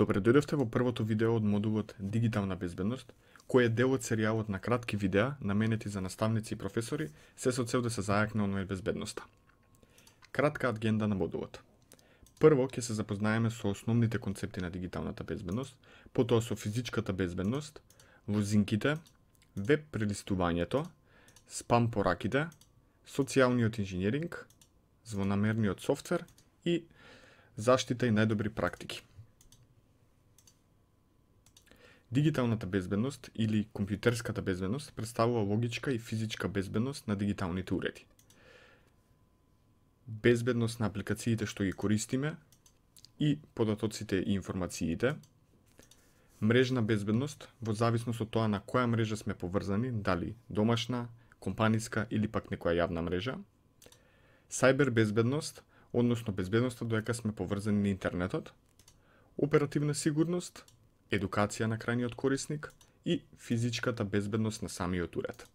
Добре дојдовте во првото видео од модулот Дигитална безбедност, кој е дел од серијалот на кратки видеа наменети за наставници и професори, се со цел да се зајакне онлайн безбедноста. Кратка агенда на модулот. Прво ќе се запознаеме со основните концепти на дигиталната безбедност, потоа со физичката безбедност, лозинките, веб прелистувањето, спам пораките, социјалниот инженеринг, злонамерниот софтвер и заштита и најдобри практики. Дигиталната безбедност или компјутерската безбедност представува логичка и физичка безбедност на дигиталните уреди. Безбедност на апликациите што ги користиме и податоците и информациите. Мрежна безбедност во зависност од тоа на која мрежа сме поврзани, дали домашна, компаниска или пак некоја јавна мрежа. Сајбер безбедност, односно безбедноста додека сме поврзани на интернетот. Оперативна сигурност, едукација на крајниот корисник и физичката безбедност на самиот уред.